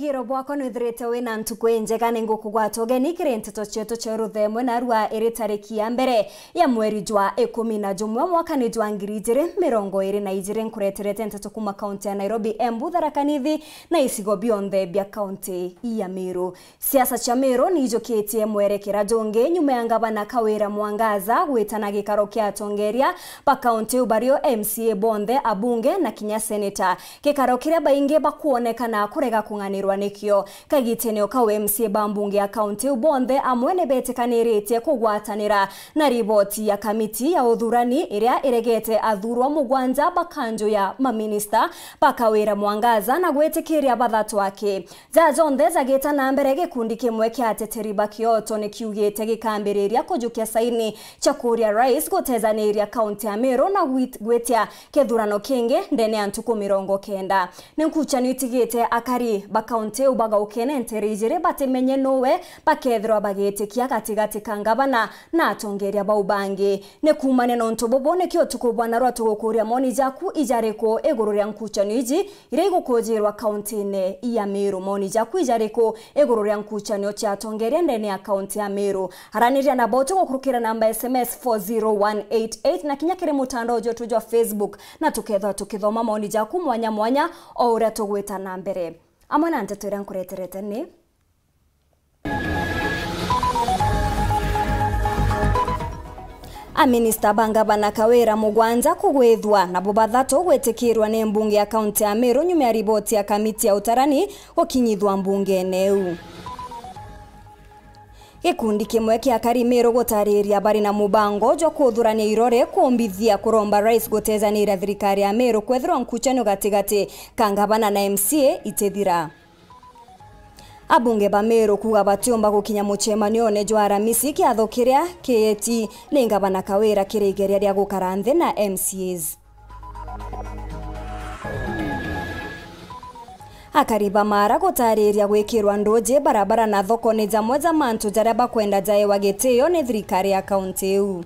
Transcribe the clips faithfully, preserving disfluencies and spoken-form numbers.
Iro bwakwa nwithirite wina ntuku injega, ningukugwata ugeni kiri nteto cietu cia ruthemwe narua iri tariki ya mbere ya mweri jwa ikumi na jumwe mwakani jwa ngiri ijiri mirongo iri na ijiri. Nkureterete nteto kuma kaunti ya Nairobi, Embu, Tharaka Nithi na icigo bionthe bia kaunti ya Meru. Siasa cia Meru niijukitie mwerekera jungi nyuma ya ngavana Kawira Mwangaza gwitana gikaro kia atongeria ba kaunti iu bario M C A bonthe, abunge na kinya seneta. Gikaro kiria baingi bakwonekana kurega kung'anirwa nikio. Kagitene o kau M C A ba mbunge ya kaunti iu bonthe amwe ni betikaniritie kugwatanira na riboti ya kamiti ya uthurani iria iregete athurwa mugwanja ba kanju ya maminista ba Kawira Mwangaza na gwitikiria bathatu aki. Ja jonthe jagita na mbere, gikundi kimwe kia ateteri ba kioto ni kiugite gikambiriria kujukia saini cia kuria rais gutethaniria kaunti ya Meru na gwit-, gwitia kithurano kingi ndene ya ntuku mirongo kenda. Ni nkuchanio itigite akari ba kaunti iu bagaukene ntere ijiri batimenye nuwe bakethirwa bagitikia gatigati ka ngavana na atongeria bau bangi. Ni kuumania na untu bubu nikio utuku bwa narua tugukuria moni jaku ijariku iguru ria nkuchanio iji iria igukujirwa kauntine ya Meru. Moni jaku ijariku iguru ria nkuchanio cia atongeria ndene ya kaunti ya Meru? Araniria nabo tugukurukira namba S M S four zero one eight eight na kinya kiri mutandao jwetu jwa Facebook, na tukethwa tukithoma moni jaku mwanya mwanya o uria tugwita na mbere. Amwe na nteto iria nkureterete ni Aminista ba ngavana Kawira mugwanja kugwithwa, nabo bathatu gwitikirwa ni mbunge ya kaunti ya Meru nyuma ya riboti ya kamiti ya utarani gukinyithwa mbungene iu. Gikundi kimwe kia akari Meru gutariria bari na mubango jwa kuthurania irore kumbithia kuromba rais gutethaniria thirikari ya Meru kwethirwa nkuchanio gatigati ka ngavana na M C A itithira. Abunge ba Meru kuuga batiumba gukinya mucemanione jwa Aramisi, kiatho kiria kieti ni ngavana Kawira kiri igeria ria gukara nthi na M C As. Akari ba Mara gutariria gwikirwa nduji barabara na thoko ni jamwe ja mantu jaria bakwenda jaewa gitio ni thirikari ya kaunti iu.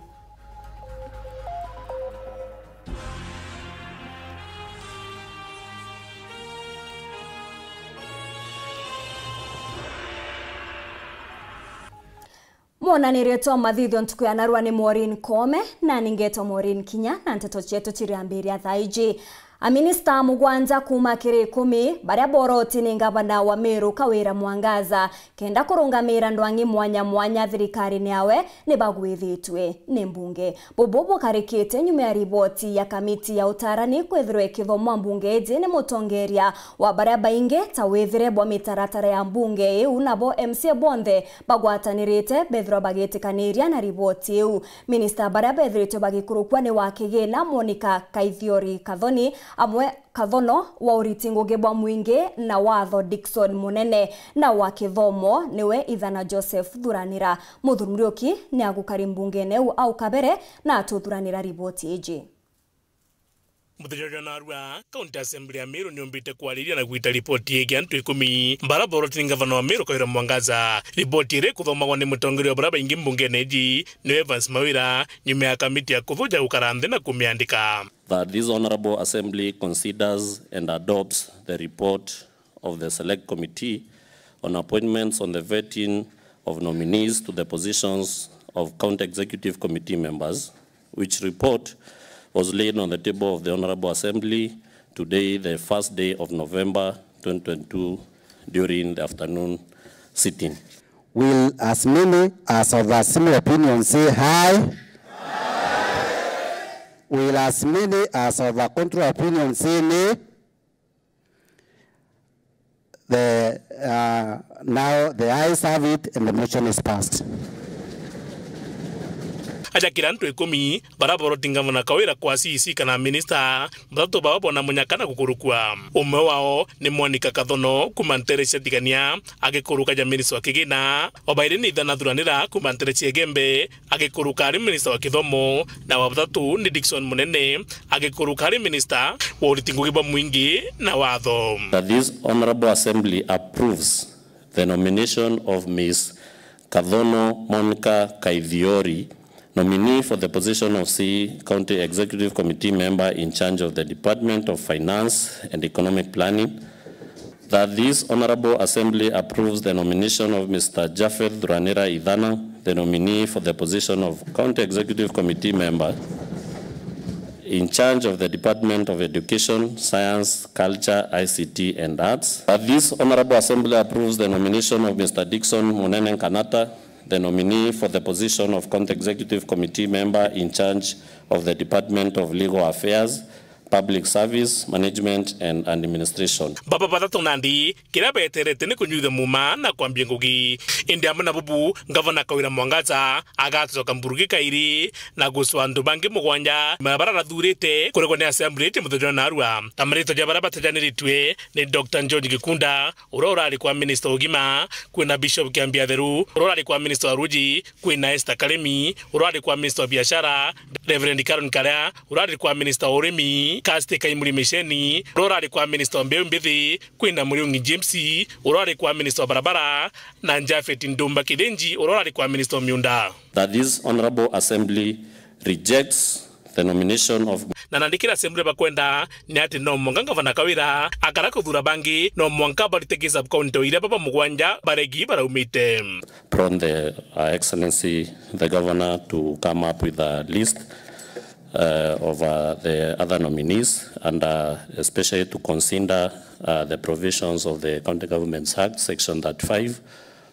Mwonanirie twa mathithio ntuku ya narua ni Maureen Koome, nani ngetwa Maureen Kinya, na nteto cietu ciriambiria thaa iji. Aminista mugwanja kuuma kiri ikumi baria boroti ni ngavana wa Meru Kawira Mwangaza kenda kurungamira ndwang'i mwanya mwanya thirikarine yawe ni bagwithitue ni mbunge. Bubu bukarikite nyuma ya riboti ya kamiti ya utarani kwithirwa ikithomwa mbunge iji ni mutongeria wa baria baingi ta withire bwa mitaratara ya mbunge iu, nabo M C A bonthe bagwatanirite bethirwa bagitikaniria na riboti iu. Minista baria bethiritwe bagikurukua ni wa kigina Monica Kaithiori Kathoni, amwe Kathono, wa uriti ngugi bwa mwingi na watho Dickson Munene, na wa kithomo niwe Ithana Joseph Thuranira. Muthuri Muriuki ni agukari mbungene iu au kabere na atuthuranira riboti iji. Muthenya jwa narua, County Assembly ya Meru niumbite kwariria na gwita riboti yegii antu ikumi bara boroti ni ngavana wa Meru Kawira Mwangaza. Riboti iria ikuthomagwa ni mutongeria wa baria baingi mbungene iji niwe Evans Mawira, nyuma ya kamiti ya kuthuja gukara nthi na kumiandika. That this Honourable Assembly considers and adopts the report of the Select Committee on Appointments on the Vetting of Nominees to the Positions of County Executive Committee Members, which report was laid on the table of the Honourable Assembly today, the first day of November twenty twenty-two, during the afternoon sitting. Will as many as of a similar opinion say aye? Will as many as of a contrary opinion say nay? The, uh, now the ayes have it and the motion is passed. Aja kiri antu ikumi bara boroti ngavana Kawira kwa C E C kana minista, bathatu bao bona munyaka na gukurukua. Umwe wao ni Monica Kathono kuma ntere cia Tigania, agikuruka ja minista wa kigina. Wa bairi ni Ithana Thuranira kuma ntere cia Igembe, agikuruka ari minista wa kithomo, na wa bathatu ni Dickson Munene, agikuruka ari minista wa uriti ngugi bwa mwingi na watho. That this Honourable Assembly approves the nomination of Miss Kathono Monica Kaithiori, nominee for the position of C E County Executive Committee member in charge of the Department of Finance and Economic Planning, That this Honourable Assembly approves the nomination of Mister Japhet Thuranira Ithana, the nominee for the position of County Executive Committee member in charge of the Department of Education, Science, Culture, I C T and Arts. That this Honourable Assembly approves the nomination of Mister Dickson Munene Nkanata, the nominee for the position of County Executive Committee member in charge of the Department of Legal Affairs, Public Service, Management and Administration. Baba bathatu nandi, kiria beterete ni kunyuithia muuma na kwambia ngugi. Indi amwe na bubu, Ngavana Kawira Mwangaza agacoka Mburugi kairi na gucwa antu bangi mugwanja, bara rathurite kuregwa ni Assembly iti muthenya wa narua. Ta maritwa ja bara batajaniritue ni Doctor George Gikunda, uria urari kwa Minister wa Ugima, kwina Bishop Kiambi Atheru, uria urari kwa Minister wa Ruji, kwina Esther Karemi, uria urari kwa Minister wa Biashara, Reverend Caron Karea, uria urari kwa Minister wa Urimi, Kirsty Kaimuri Miceni, uria urari kwa Minister wa Mbeu Mbithi, kwina Muriungi James, uria urari kwa Minister wa Barabara, na Japhet Ndumba Kithinji, uria urari kwa Minister wa Miunda. That this Honourable Assembly rejects the nomination of. Na nandi kiria Assembly bakwenda ni ati no mwanka Ngavana Kawira akara kuthura bangi, no mwanka barite ki sub-county o iria baba mugwanja baregi baraumite. Upon the, uh, Excellency the Governor to come up with a list, uh, of, uh, the other nominees and, uh, especially to consider, uh, the provisions of the County Governments Act, Section thirty-five,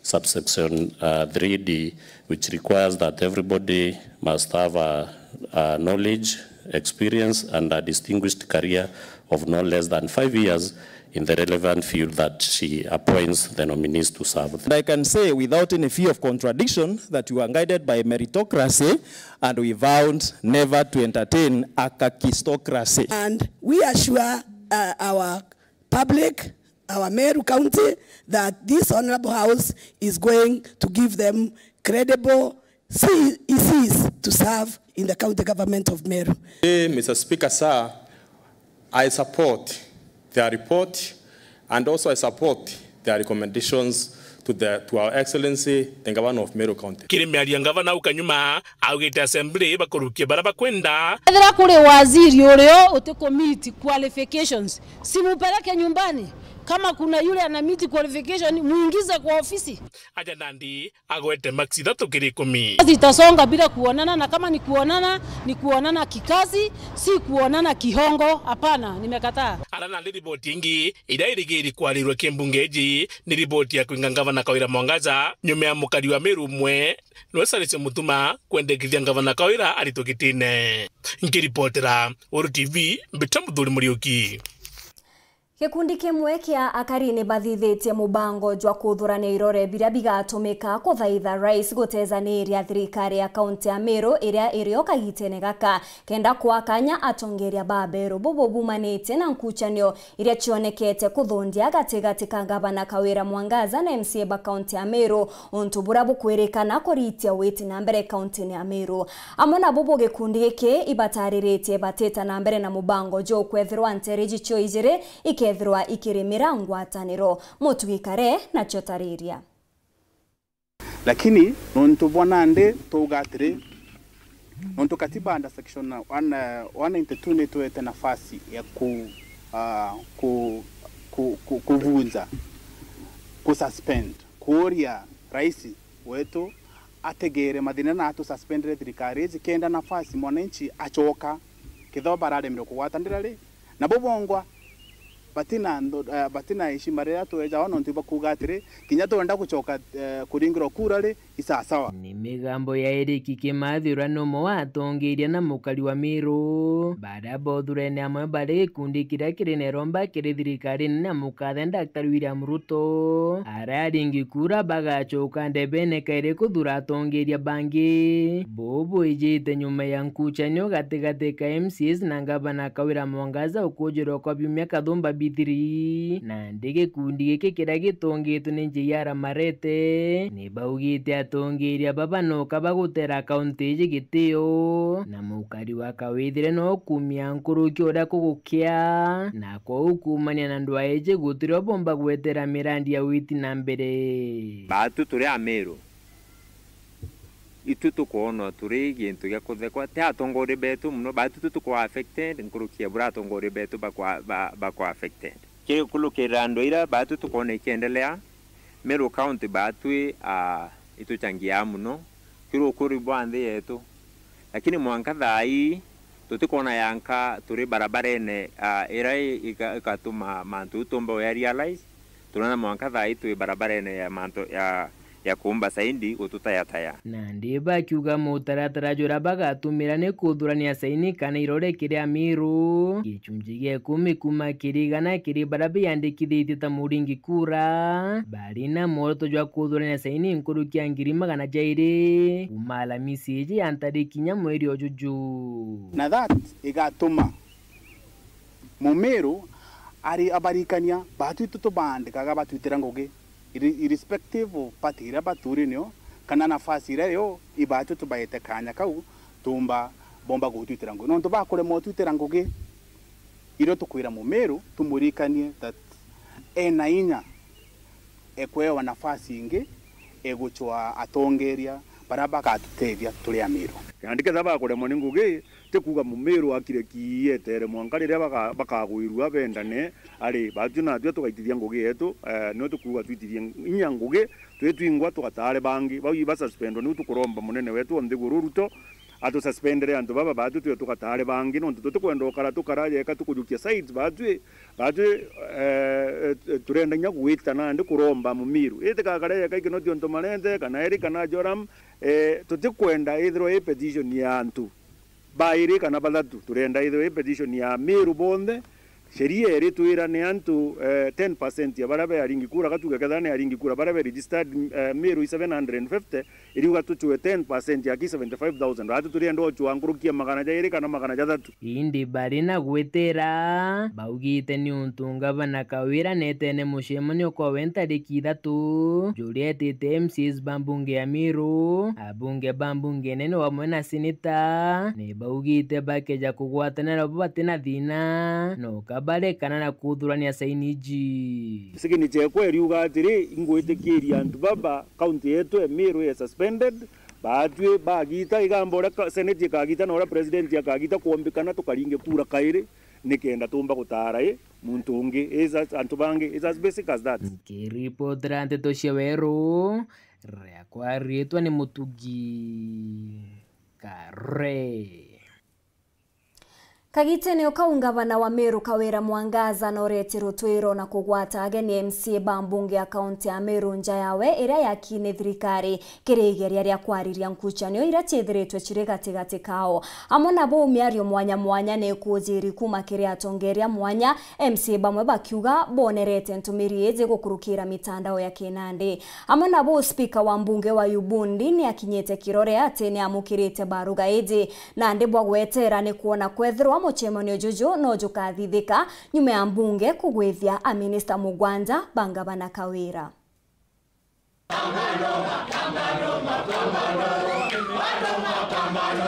subsection, uh, three D, which requires that everybody must have a, a knowledge, experience, and a distinguished career of no less than five years in the relevant field that she appoints the nominees to serve. And I can say without any fear of contradiction that we were guided by meritocracy and we vowed never to entertain a kakistocracy. And we assure, uh, our public, our Meru County, that this Honourable House is going to give them credible C E Cs to serve in the County Government of Meru. Eh, Mister Speaker, sir, I support their report and also I support their recommendations to the, to Our Excellency the Governor of Meru County. Kiri miario ya Ngavana au kanyuma, augite Assembly bakurukia bara bakwenda. Ethira kuri waziri urio uti ku meet qualifications, simupeleke nyumbani. Kama kuna yule ana meet qualification, muingize kwa ofisi. Aja nandi agwete maksi ithatu kiri ikumi. Kazi itasonga bila kuonana, na kama ni kuonana, ni kuonana kikazi, si kuonana kihongo. Hapana, nimekataa. Ara nandi riboti ingi iria irigiri kwarirwe ki mbunge iji ni riboti ya kwinga Ngavana Kawira Mwangaza nyuma ya mukari wa Meru umwe niwe Cyrus Mutuma kwendekithia Ngavana Kawira aritwe gitine. Nkiripotera Weru T V, mbita Muthuri Muriuki. Gikundi kimwe kia akari ni bathithitie mubango jwa kuthurania irore biria bigatumika kuthaitha rais gutejaniria thirikari ya kaunti ya Meru iria irio kagitene gaka, kenda kwa kanya atongeria ba Meru bubu bumanitie na nkuchanio iria cionekete kuthundia gatigati ka Ngavana Kawira Mwangaza na M C A ba kaunti ya Meru, untu buria bukwirikana kuritia witi na mbere kauntini ya Meru. Amwe na bubu gikundi giki ibatariritie batita na mbere na mubango juu kwethirwa nteere iji cio ijiri ikethirwa ikirimira ngwataniro. Mutugi Kare nacio tariria. Lakini nontu bwa nandi twauga atiri, nontu katiba under section one, eh, one ninety-two nitwete nafasi ya ku, ah, ku, ku, ku, kuvunja, ku suspend, kuuria rais wetu ategere mathina na atususpendere thirikari iji kenda nafasi mwananchi acoka, kethirwa bararemirwe kugwatanira ri, nabo bongwa batina ntho-, eh, batina heshima riria twejawa nontu ibakuuga atiri, kinya twenda gucoka, eh, kuringirwa kura ri, isasawa. Ni migambo ya Eric Kimathi uria ni umwe wa atongeria na mukari wa Meru, baria bothurene amwe bari gikundi kiria kiri na iromba kiri thirikari nene ya mukathe Daktari William Ruto. Aria aringi kura bagacoka ndebene kairi kuthura atongeria bangi. Buu bwijite nyuma ya nkuchanio gatigati ka M C As na Ngavana Kawira Mwangaza ukujirwa kwa biumia kathumba bithiri. Nandi gikundi giki kiria gitongitwe ni J R Marete, ni baugite atongeria baba noka bagutera kaunti iji gitio, na mukari wa kawithire no kumia nkuruki uria kugukia, na kwou kuumania na ndwaa iji gutirio bomba gwetera mirandi ya witi na mbere. Baatu turi Ameru, itu tukwonwa turi gintu gia kuthekwa, ti atongoria betu mono, baatu tu tukwa affected nkuruki ya buria atongoria betu bakwa-, ba-, bakwa affected. Kiri kulukirira andu ira baatwi tukoona ikiendelea, Meru County baatwi, ah, ituchangiaa mono kiri ukuri bwa nthi yetu. Lakini mwanka thaa ii, tutikoona yanka turi barabarene, ah, ira i-, ika-, ikatuma mantu jau tumba uya realize. Turona mwanka thaa ii twi barabarene ya mantu ya, ya kuumba saindi gututayataya. Nandi bakiuga mutaratara juria bagatumira ni kuthurania saini kana irore kiri Amiru, gicunji gia ikumi kuuma kiri igana kiri baria biyandikithitie ta muringi kura, bari na mworoto jwa kuthurania saini nkuruki ya ngiri magana jairi kuuma Alamisi iji ya ntariki inya mweri o juju. Na that igatuma Mumiru ari abarikania, baatwi tutubandikaga batwitira ngugi, irre-, irrespective of party iria baturi nio, kana nafasi iria rio, ibaatwi tubaete kaanya kau, tumba, bomba gutwitira ngugi. Nontu bakuremwa utwitira ngugi, irio tukwira Mumiru, tumuririkanie that ena inya ekwewa nafasi ingi, egucwa atongeria baria bagatutethia turi Amiru. Nandi ketha bakuremwa ni ngugi, ti kuuga Mumiru akire ki etere mwanka riria baka-, bakagwirua bendane, ari baatwi natwi tugaitithia ngugi yetu, eh, nio tukuuga twitithie inya ngugi, twi twingwa tugataare bangi. Bau iba suspendwa, niu tukuromba munene wetu o nthiguru Ruto, atususpendere antu baba baatwi twe tugatare bangi, nontu tutikwenda ukara tukara jeka tukujukia sides baatwi, baatwi, eh, eh, turenda inya gwita nandi kuromba Mumiru. Itikakare jeka Kinoti ontu Marende, kana Eric kana Joram, eh, tutikwenda ithirwa i petition ya antu bairi kana bathatu, turenda ithirwa i petition ya Miru bonthe, Sheria iritwira ni antu, eh, ten percent ya baria be aringi kura, gatuge kethira ni aringi kura baria be registered, eh, Meru i seven hundred and fifty, iriuga tucwe ten percent ya ki seventy-five thousand. Ati turienda ocwa nkuruki ya magana jairi kana magana jathatu. Indi bari na gwitira, baugite ni untu ngavana Kawira netene mucemanio kwawe ntariki ithatu, juria etite M C As ba mbunge ya Meru, abunge ba mbunge nene wamwe na seneta, ni baugite bakeja kugwatanira bo bati na thina, no kabarekana na kuthurania saini iji. Signature ekwa iriuga atiri, ingwitikiria antu baba county yetu ya Meru ya suspended, baatwi bagita igamba uria ka-, senate ikagita na uria president akagita kwombikana tukaringe kura kairi, nikenda tumba gutara i muntu ungi, is as, antu bangi, is as basic as that. Nkiripotera nteto cia Weru, riakwa riitwa ni Mutugi Kare. Kagitene o kau, ngavana wa Meru Kawira Mwangaza noretie rutwiro na kugwata ageni M C A ba mbunge ya kaunti ya Meru nja yawe iria yakine thirikari kiri igeria ria kwariria nkucanio iria ciithiritwe ciri gatigati kao. Amwe na buu, miario mwanya mwanya ni ikujiri kuuma kiri atongeria mwanya, M C A bamwe bakiuga bonerete ntumiri iji gukurukira mitandao ya kinandi. Amwe na buu, spika wa mbunge wa Ubundi ni akinyite kirore ati ni amukirite baruga iji, nandi bwa gwetera ni kwona kwethirwa mucemanio juju no jukathithika nyuma ya mbunge kugwithia aminista mugwanja ba ngavana Kawira.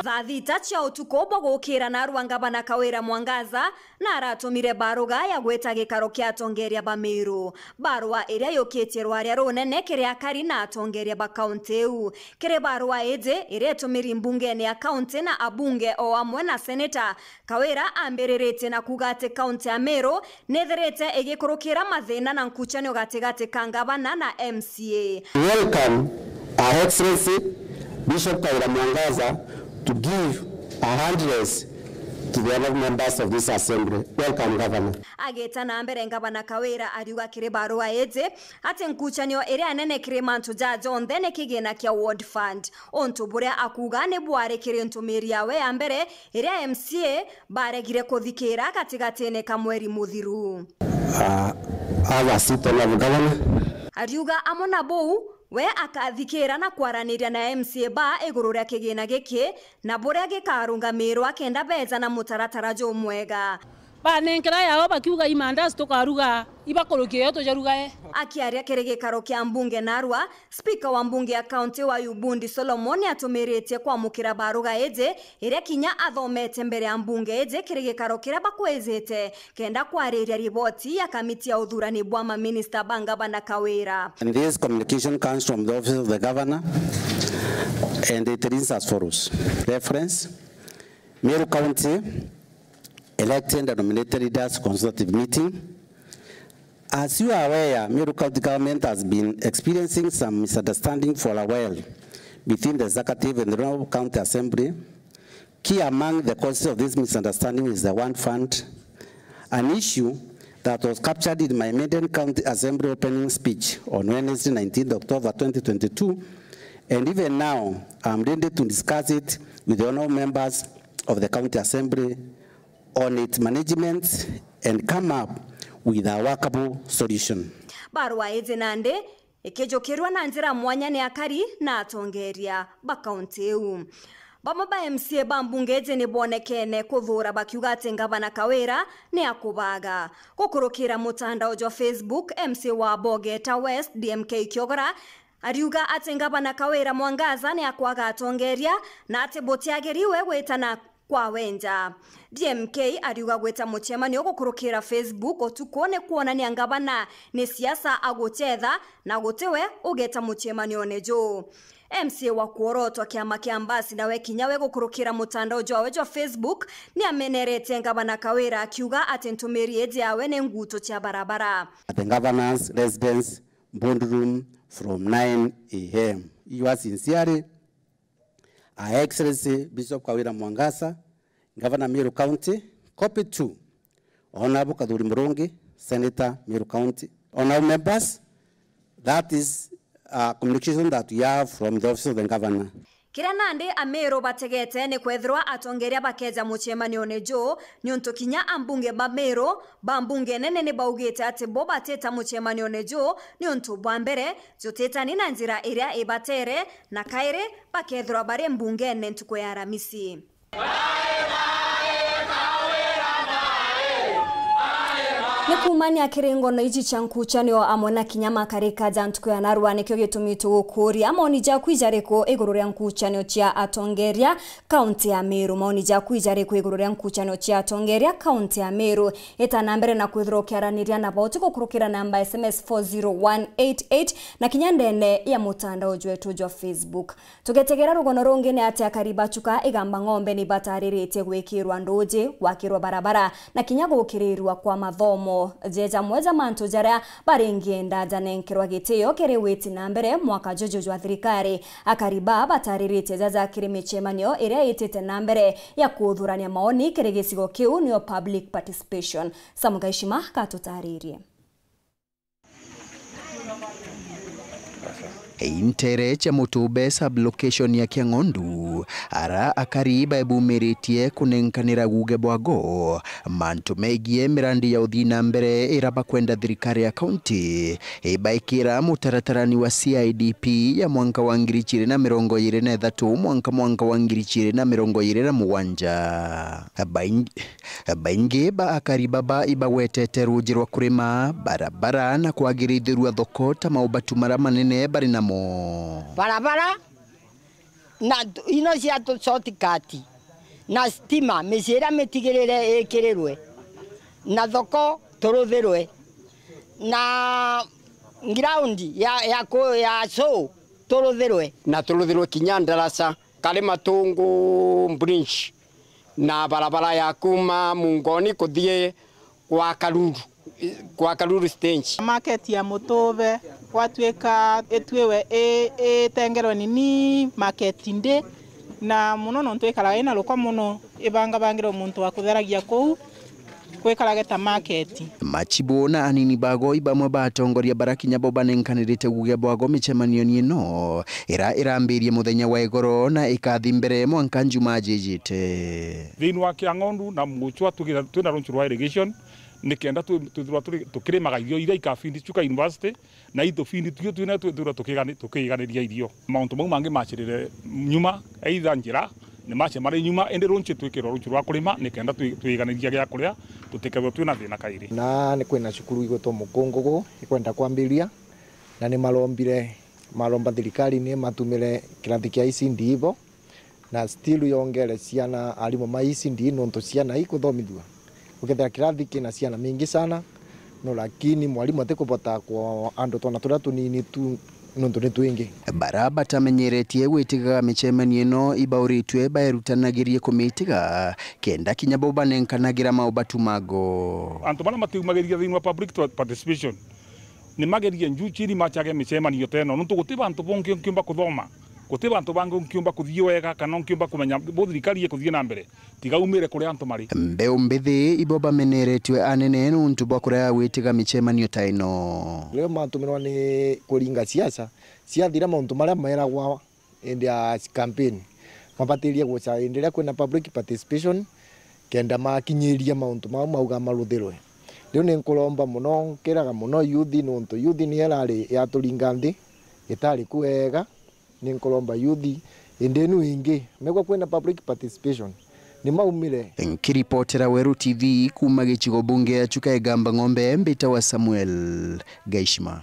Thaa thita cia utuku bwa gukira narua ngavana Kawira Mwangaza na aratumire baruga ya gwita gikaro kia atongeria ba Meru. Barua iria yukitie rwaria runene kiri akari na atongeria ba kaunti iu. Kiri barua iji iria itumiri mbungene ya kaunti na abunge o amwe na seneta, Kawira ambiriritie na kuuga ati kaunti ya Meru nithirite igikurukira mathina na nkucanio gatigati ka ngavana na M C A. Welcome, Her Excellency Bishop Kawira Mwangaza, to give a hand raise to the honourable members of this assembly. Welcome, Governor. Agita na mbere, ngavana Kawira ariuga kiri barua iji ati nkucanio iria nene kiri mantu ja jonthe ni kigina kia Ward Fund, untu buria akuuga ni bwari kiri ntumiri yawe ya mbere iria M C A baregire kuthikira gatigatine ka mweri muthiru. Uh, have a seat, Honourable Governor. Ariuga amwe na buu, we akathikira na kwaraniria na M C A ba iguru ria kigina giki na buria gikarungamirwa kenda beja na mutaratara jumwega. Banenkera yao bakiuga, "Imandazi tukaruga, ibakurukie yo tujarugae." Akiaria kiri gikaro kia mbunge narua, spika wa mbunge ya kaunti wa Ubundi Solomon atumiritie kwamukira baruga iji, iria kinya athomete mbere ya mbunge iji kiri gikaro kiria bakwijite, kenda kwariria riboti ya kamiti ya uthurani bwa maminista ba ngavana Kawira. And this communication comes from the office of the governor, and it reads as follows. Reference, Meru County elected and nominated leaders consultative meeting, As you are aware, Meru County Government has been experiencing some misunderstanding for a while between the executive and the Regional County Assembly. Key among the causes of this misunderstanding is the one fund, an issue that was captured in my maiden County Assembly opening speech on Wednesday, nineteenth October twenty twenty-two, and even now I'm ready to discuss it with the honourable members of the County Assembly on its management and come up with a workable solution. Barua iji nandi ikijukirwa na njira mwanya ni akari na atongeria ba kaunti iu. Bamwe ba M C A ba mbunge iji ni bonekene kuthuura bakiuga ati ngavana Kawira ni akubaga. Gukurukira mutandao jwa Facebook, M C A wa Bogeta West, D M K Kiogora, ariuga ati ngavana Kawira Mwangaza ni akwaga atongeria na ati butiagiriwe gwitana kwa wenja. D M K ariuga gwita mucemanio gukurukira Facebook utuku ni kwonania ngavana ni siasa aguchetha na gutiwe ugeta mucemanione juu. M C A wa kuorotwa kiama kia Mbasi nawe kinya we gukurukira mutandao jwawe jwa Facebook ni ameneretie ngavana Kawira akiuga ati ntumiri iji yawe ni nguto cia barabara. At the governor's residence boardroom from nine a m. Yours sincerely, Her Excellency Bishop Kawira Mwangaza, Governor Meru County, copied to Honourable Kathuri Murungi, Senator Meru County. Honourable members, that is a communication that we have from the office of the governor. Kiria nandi Ameru bategete ni kwethirwa atongeria bakeja mucemanione juu, niuntu kinya ambunge ba Meru ba mbunge nene ni baugite ati bo batita mucemanione juu niuntu bwa mbere jutitani na njira iria ibatere, na kairi bakethirwa bari mbungene ntuku ya Aramisi. Ni kuumania kiri ngono iji cia nkuchanio amwe na kinya makarika ja ntuku ya narua, nikio gitumi tugukuria maoni jaku ijariku iguru ria nkuchanio cia atongeria kaunti ya Meru. Maoni jaku ijariku iguru ria nkuchanio cia atongeria kaunti ya Meru? Ita na mbere na kwithirwa ukiaraniria na bo, ti gukurukira namba S M S four zero one eight eight na kinya ndene ya mutandao jwetu jwa Facebook. Tugetegera rugono rungi ni ati akari ba Chuka Igamba Ng'ombe ni batariritie gwikirwa nduji, gwakirwa barabara na kinya gukirirwa kwa mathomo. Je jamwe ja mantu jaria baringienda janenkerwa gitio kiri witi na mbere mwaka juju jwa thirikari. Akari ba batariritie jaja kiri micemanio iria itite na mbere ya kuthurania maoni kiri gicigo kiu, niyo public participation. Sam Gaishima gatutaririe. Intere cia Mutube sub-location ya Kiang'ondu, ara akari baebumiritie kunenkanira guge bwago mantu megie mirandi ya uthii na mbere ira bakwenda thirikari ya kaunti ibaikira mutaratarani wa C I D P ya mwanka wa ngiri ijiri na mirongo iri na ithatu mwanka mwanka wa ngiri ijiri na mirongo iri na mugwanja. Baing-, Baingi ba akari baba ibagwetete ruuji rwa kurima, barabara na kwagirithirua thoko ta maubatu mara manene bari namo. Barabara na t-, ino cia tu-, shortcut na stima, micii iria mitigirire ikirirwe, na thoko turuthirwe, na ground ya, ya ku-, ya show turuthirwe. Na turuthirwe kinya ndaraca. Kari Matungu bridge na barabara ya kuma Mungoni kuthii kwa Karuru, kwa Karuru stage. Market ya Mutube gwatuika itwiwe i-, itengerwe nini market ndi, na muno nontu ikaraga ina ruko muno, ibangabangirwe muntu wa kutheragia kuu. Gwikarage ta market. Machibu na anini bago i bamwe ba atongoria bara kinya bo banenkanirite guge bwago micemanioni ino, ira irambirie muthenya wa igoro na ikathi mbere mwanka njuma jijite. Thiini wa Kiang'ondu na Muchwa tugira-, twina runchu rwa irrigation, nikenda twi-, twithirwa turi-, tukirimaga irio iria ikafindi Chuka University, na itubindi tuo twina twithirwa tukigani-, tukiganiria irio. Mauntu mau mangi macirire nyuma, either njira ni mace mari nyuma, indi runchi twikirwa runchi rwa kurima, nikenda twi-, twiganiria gia kuria, tutikethirwe twina thina kairi. Na ni kwina cukuru igwitwa Mukungugu ikwenda kwambiria, na ni marombire, maromba thirikari ni matumire kirathi kia E C D ibo, na still yongere ciana, arimu ma E C D, nontu ciana ikuthomithua. Ukethira kirathi kina ciana mingi sana, no, lakini mwarimu atikubota kwa andu twana turia tunini tu, nontu ni twingi. Bara batamenyeretie gwitigaga micemanio ino ibauritue baerutanagirie kumitiga, kenda kinya bo banenkanagira maubatu mago. Antu baria matiumagiria thiini wa public participation, ni magerie njuu chiri machage micemanio ta ino, nontu guti bantu bongi nkiumba kuthoma, guti bantu bangi nkiumba kuthii wega, kana nkiumba kumenya bo thirikari ikuthii na mbere, tiga umire kuria antu mari. Mbeu mbithi ibo bameneretue anene nontu bwa kurega gwitiga micemanio ta ino. Riria matumirwa ni kuringa siasa, ciathira mauntu maria meragwa indi ya campaign, mabatirie guca indi iria kwina public participation, kenda makinyiria mauntu mau mauga maruthirwe. Riu ni nkuromba mono, nkiraga mono youth, nontu youth niyo irari yaturinga nthi, itari ku wega. Ni nkuromba youth, indi inu ingi, megwa kwina public participation, ni maumire. Nkiripotera Weru T V kuuma gicigo bunge ya Chuka Igamba Ng'ombe, mbitawa Samuel Gaishima.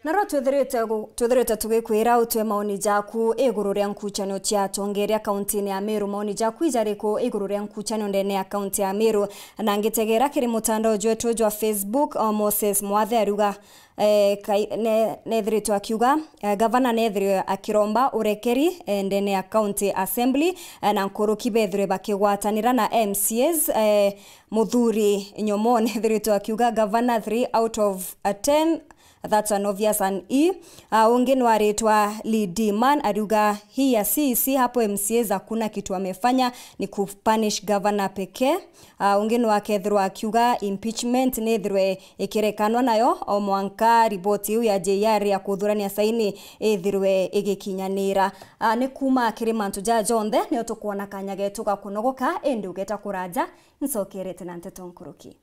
Narua twithirite gu-, twithirite tugikwira utue maoni jaku iguru ria nkuchanio cia atongeria kauntini ya Meru. Maoni jaku ijariku iguru ria nkuchanio ndene ya kaunti ya Meru? Na ngitegera kiri mutandao jwetu jwa Facebook, o Moses Mwathe ariuga, eh, kai-, ne-, nethiritwe akiuga, eh, gavana nethirwe akiromba urekeri, eh, ndene ya county assembly, eh, na nkuruki bethirwe bakigwatanira na M C As, eh, Muthuri Nyomo nethiritwe akiuga gavana three out of, uh, ten, that's an obvious an E. Uh, ungi nwaritwa Lee D Man ariuga hii ya C E C hapo M C As hakuna kitu amefanya, ni kupunish governor pekee. Uh, ungi nwakethirwa akiuga impeachment nithirwe ikirekanwa nayo o mwanka riboti iu ya J R ya kuthurania saini ithirwe igikinyanira. Uh, ni kuuma kiri mantu jaa jonthe nio tukwona kanya getu ga kunogoka, indi ugeta kuraja, ncokerete na nteto nkuruki.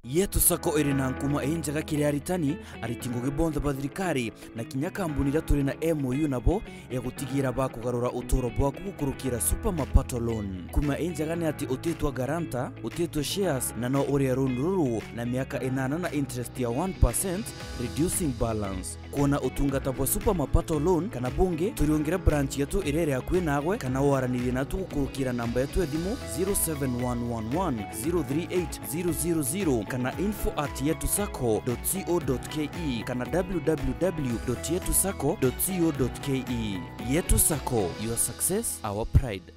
Yetu Sacco iri na nkuma injega kiri aritani, ariti ngugi bonthe ba thirikari, na kinya kambuni iria turi na M O U nabo ya gutigira bakugarura uturo bwaku gukurukira Super Mapato Loan. Nkuma injega ni ati utitwa guarantor, utitwa shares, na no urie loan ruru na miaka inana na interest ya one percent, reducing balance. Kwona utungata bwa Super Mapato Loan kana bungi, turiungire branch yetu iria iri akui nagwe, kana waranirie natu gukurukira namba yetu ya thimu zero seven one one one zero three eight zero zero zero kana info at yetu sacco dot co dot ke kana w w w dot yetu sacco dot co dot ke. Yetu Sacco, your success, our pride.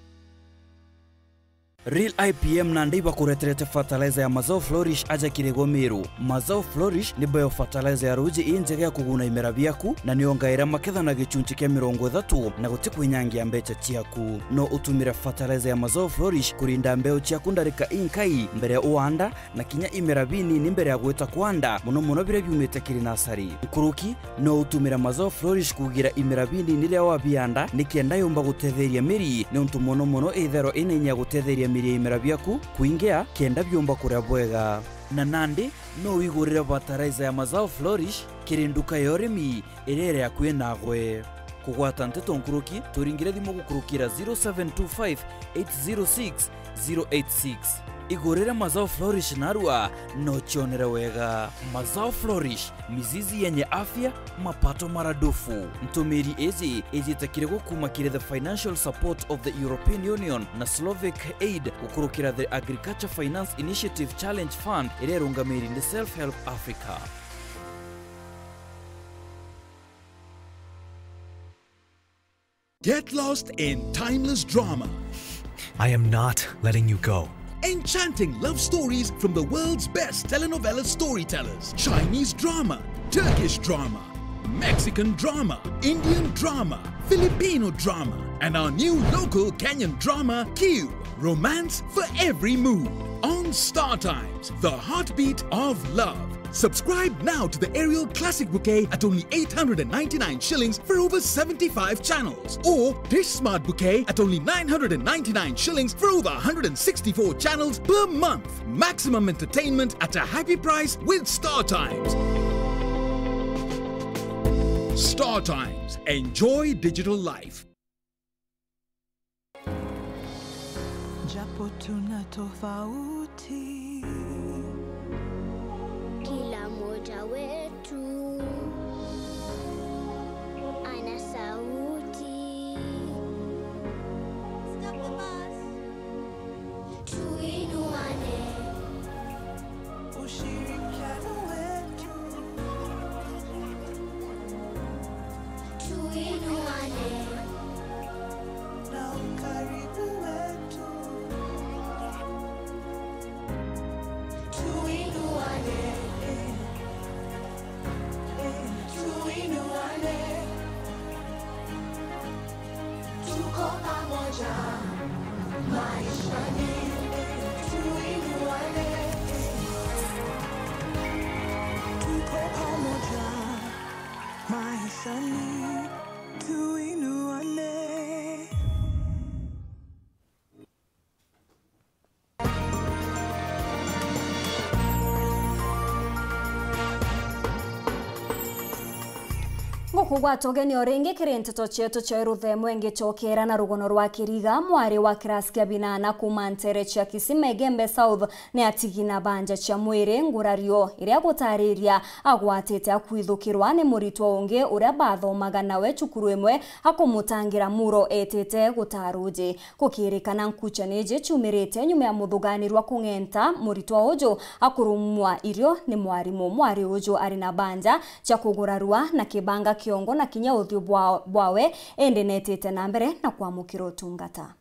Real I P M nandi ibakureterete fertilizer ya Mazao Flourish aja kiri gwe Meru. Mazao Flourish ni bio fertilizer ya ruuji injega ya kuguna imera biaku, na niongaira maketha na gichunchi kia mirongo ithatu, na guti kwinyangia mbecha ciaku. No utumire fertilizer ya Mazao Flourish kurinda mbeu ciaku ndarika inkai mbere ya uanda, na kinya imera binini mbere ya gwita kwanda, mono mono biria biumite kiri nasari. Nkuruki, no utumire Mazao Flourish kugira imera binini riria wabianda, nikenda yumba gutetheria miri, niuntu mono mono itherwa ina inya ya gutetheria miri ya imera biaku kwingia, kenda biumba kuria bwega. Na nandi, no wigurire fertilizer ya Mazao Flourish kiri nduka ya urimi iria iri akui nagwe. Kugwata nteto nkuruki, turingire thimu gukurukira zero seven two five eight zero six zero eight six. Igurire Mazao Flourish narua, no cionere wega. Mazao Flourish, mizizi yenye afya, mapato maradufu. Ntumiri iji ijite kiri gwe kuuma kiri the financial support of the European Union na Slovak Aid gukurukira the Agriculture Finance Initiative Challenge Fund iria irungamiri ni Self Help Africa. Get lost in timeless drama. I am not letting you go. Enchanting love stories from the world's best telenovela storytellers. Chinese drama, Turkish drama, Mexican drama, Indian drama, Filipino drama, and our new local Kenyan drama, Q. Romance for every mood. On Star Times, the heartbeat of love. Subscribe now to the Aerial Classic Bouquet at only eight hundred and ninety-nine shillings for over seventy-five channels, or Dish Smart Bouquet at only nine hundred and ninety-nine shillings for over one hundred and sixty-four channels per month. Maximum entertainment at a happy price with Star Times. Star Times. Enjoy digital life. Japo tuna tofauti. Kila mmoja wetu ana sauti. Kugwata ugeni o ringi kiri nteto cietu cia ruthemwe ngicokera na rugono rwa Kiriga, mwari wa kirasi kia binana kuuma ntere cia Kisima Igembe South, ni atigi na banja cia mwiri ngurario iria gutariria agwatite akwithukirwa ni muritwa ungi uria bathomaga nawe cukuru imwe akumutangira muro etite gutaa ruuji. Gukirikana nkuchani iji ciumirite nyuma ya muthuganirwa kung'enta muritwa uju akurumwa irio ni mwarimu. Mwari uju ari na banja cia kugurarua na kibanga kiongo na kinya uthiu bwa-, bwawe, indi netite na mbere na kwamukira utungata.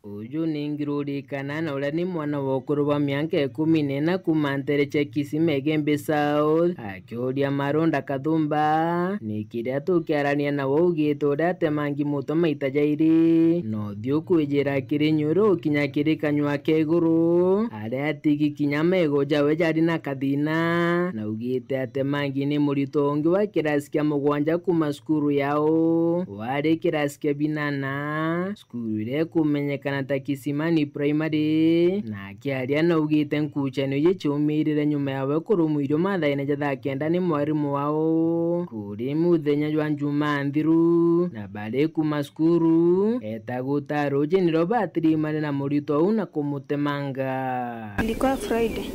Uju ni Ngirurikana na uria ni mwana wa ukuru bwa mianka ikumi na ina kuuma ntere cia Kisima Igembe South. Akiuria Marunda Kathumba, ni kiria tukiarania nawe augite uria atemangi mutwe maita jairi, na uthiu kwijira kiri nyuru ukinya kiri kanyua ka iguru, aria atigi kinya mego jawe jari na kathina. Na augite atemangi ni muritwa ungi wa kirasi kia mugwanja kuuma cukuru yao, wari kirasi kia binana, cukuru iria ikumenyekana ta Kisimani Primary. Na akiaria naugite nkuchani iji ciumirire nyuma yawe kurumwa irio mathaine ja thaa kenda ni mwarimu wao kuri muthenya jwa Njumaa nthiru, na bari kuuma cukuru, eta gutaa ruuji nirio batirimane na muritwa uu na kumutemanga. Ilikuwa Friday,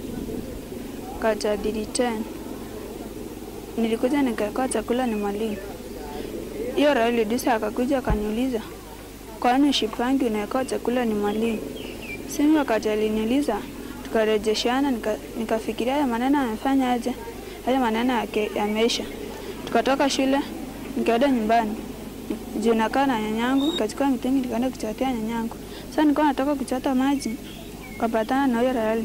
wakati wa three ten. Nilikuja nikaekewa chakula ni mwalimu. Hiyo Raila Odinga akakuja akaniuliza, "Kwani ushipangi unaekewa chakula ni mwalimu?" Simi wakati aliniuliza, tukarejeshiana, nika-, nikafikiria haya maneno amefanya aje, haya maneno yake yameisha. Tukatoka shule, nikaenda nyumbani. Juu nakaa na nyanyangu, nikachukua mitungi nikaenda kuchotea nyanyangu. Sasa nilikuwa natoka kuchota maji, tukapatana na huyo Raila.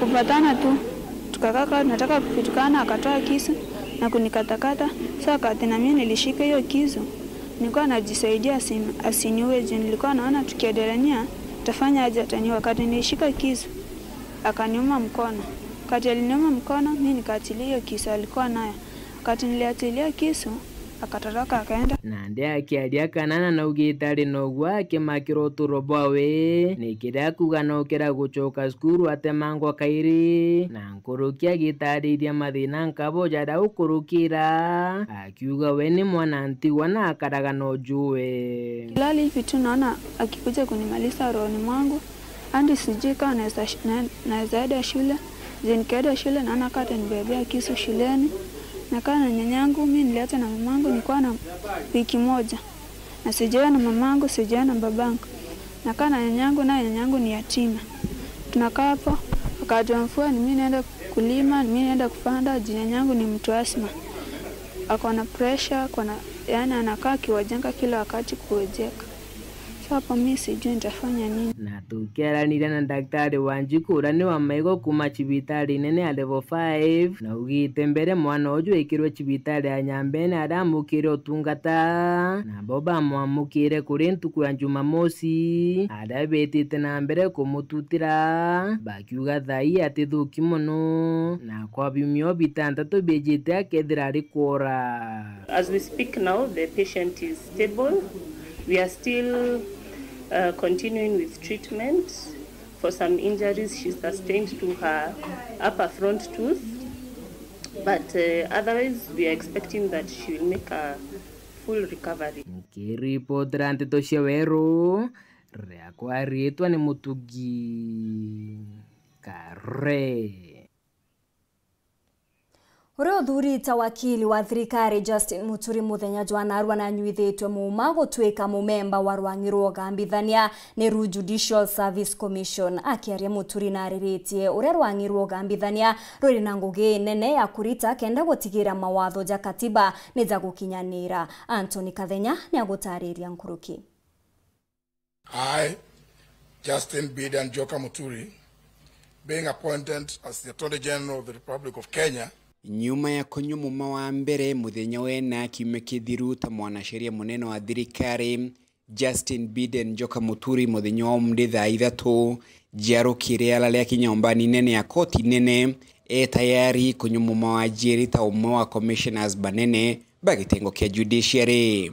Kupatana tu, tukakaa kama tunataka kupitukana, akatoa kisu na kunikatakata. Sasa wakati na mimi nilishika hiyo kisu, nilikuwa najisaidia asi-, asiniue juu nilikuwa naona tukiendelea, atafanya aje ataniua. Wakati nilishika kisu, akaniuma mkono. Wakati aliniuma mkono, mimi nikaachilia hiyo kisu alikuwa nayo. Wakati niliachilia kisu, akatoroka akaenda. Nandi akiaria Kanana naugite ari nogwa akimakira uturo bwawe, ni kiria akuga no kira gucoka cukuru atemangwa kairi, na nkuruki agitariria mathina nkabo jaria ukurukira, akiuga we ni mwana ntigwa na akaraga na ujue. Kilali hivi tu naona akikuja kunimaliza rohoni mwangu, hadi sijui kama naweza sh-, na-, naweza enda shule. Je, nikienda shule naona kama atanibebea kisu shuleni. Nakaa na nyanyangu, mimi niliachwa na mamangu nikiwa na wiki moja. Na sijaona mamangu, sijaona babangu. Nakaa na nyanyangu, naye nyanyangu ni yatima. Tunakaa hapo, wakati wa mvua ni mimi naenda kulima, ni mimi naenda kupanda, juu nyanyangu ni mtu asma. Ako na pressure, ako na, yani anakaa akiwajenga kila wakati kuwajenga. So hapo mi sijui nitafanya nini. Na tukiaraniria na Daktari Wanjiku uria ni wa maigo kuuma cibitari nene ya Level five, na augite mbere mwana uju ekirwe cibitari ya Nyambene aria amukire utungata, nabo bamwamukire kuri ntuku ya Jumamosi, aria betite na mbere kumututira, bakiuga thaa ii atithuki mono, na kwa biumia bitantatu biejite akethira ari kwora. As we speak now, the patient is stable. We are still, uh, continuing with treatment for some injuries she sustained to her upper front tooth. But, uh, otherwise, we are expecting that she will make a full recovery. Nkiripotera nteto cia Weru, riakwa riitwa ni Mutugi Kare. Uria uthurite wakili wa thirikari Justin Muturi muthenya jwa narua nanyuithitwe muuma gutuika mumemba wa rwang'i rwa ugambithania, niru Judicial Service Commission. Akiaria, Muturi nariritie uria rwang'i rwa ugambithania ruri na ngugi nene ya kurita kenda gutigira mawatho ja katiba ni ja gukinyanira. Anthony Kathenya ni agutariria nkuruki. I, Justin Bidan Njoka Muturi, being appointed as the Attorney General of the Republic of Kenya. Nyuma ya kunyua muma wa mbere muthenya wena kiumia kithiru ta mwanasheria munene wa thirikari, Justin Bidan Njoka Muturi, muthenya wa umunthi thaa ithatu, jiarukire arari aki nyombani nene ya koti nene, e tayari kunyua muma wa jiiri ta umwe wa commissioners banene ba gitengo kia judiciary.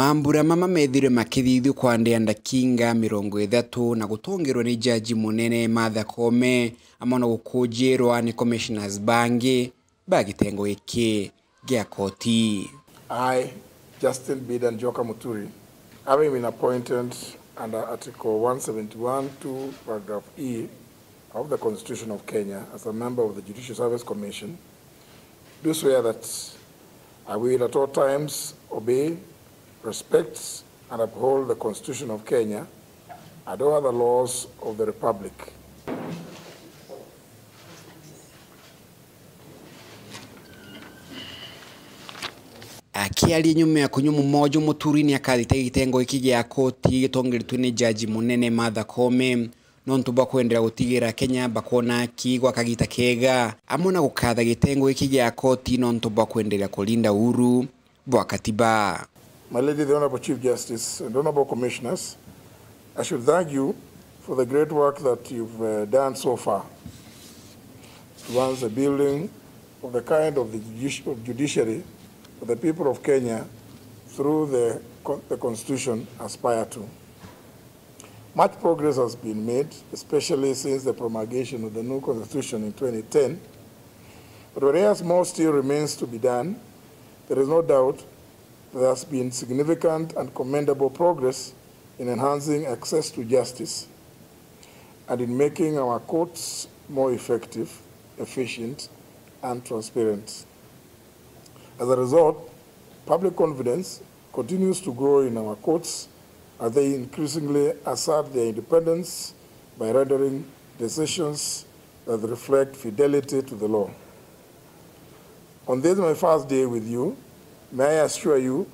Mambura mama methirwe makithithua kwa ndeya ndakinga mirongo ithatu na gutongerwa ni jaji munene Martha Koome, amwe na gukujirwa ni commissioners bangi ba gitengo giki gia koti. I, Justin Bidan Njoka Muturi, having been appointed under Article one seventy-one two, paragraph E of the Constitution of Kenya as a member of the Judicial Service Commission, do swear that I will at all times obey, respect, and uphold the Constitution of Kenya and all other laws of the Republic. Akiaria nyuma ya kunyua mumojo, Muturi ni akathita gitengo giki gia koti gitongeretwe ni jaji munene Martha Koome, nontu bwa kwenderea gutigira Kenya bakwona aki gwa kagita kega, amwe na gukatha gitengo giki gia koti nontu bwa kwenderea kurinda uhuru bwa katiba. My Lady, the Honorable Chief Justice and Honorable Commissioners, I should thank you for the great work that you've, uh, done so far towards the building of the kind of the judici-, of judiciary that the people of Kenya through the con-, the Constitution aspire to. Much progress has been made, especially since the promulgation of the new Constitution in twenty ten. But whereas more still remains to be done, there is no doubt there has been significant and commendable progress in enhancing access to justice and in making our courts more effective, efficient, and transparent. As a result, public confidence continues to grow in our courts as they increasingly assert their independence by rendering decisions that reflect fidelity to the law. On this, my first day with you, may I assure you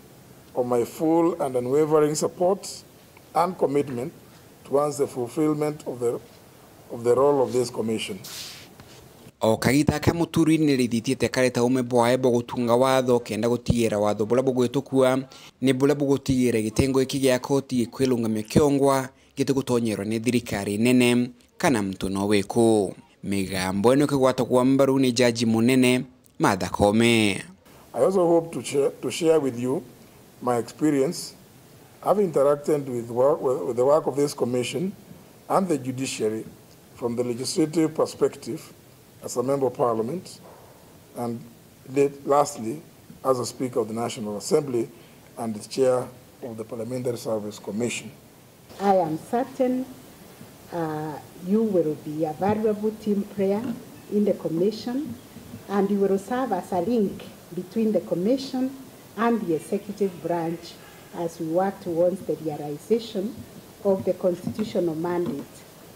of my full and unwavering support and commitment towards the fulfillment of the, of the role of this commission. O kagita aka, Muturi ni rithitie kari ta ume bwae bwa gutunga watho kenda gutigira watho buria bugwitukua ni buria bugutigira gitengo giki gia koti gikwirungamia kiongwa gitigutonyerwa ni thirikari nene kana muntu no wiku. Migambo ino ikigwatagwa mbaru ni jaji munene Martha Koome. I also hope to share, to share with you my experience, having interacted with, work, with the work of this commission and the judiciary from the legislative perspective as a member of parliament and late, lastly as a speaker of the National Assembly and the chair of the Parliamentary Service Commission. I am certain, uh, you will be a valuable team player in the commission, and you will serve as a link between the commission and the executive branch as we work towards the realization of the constitutional mandate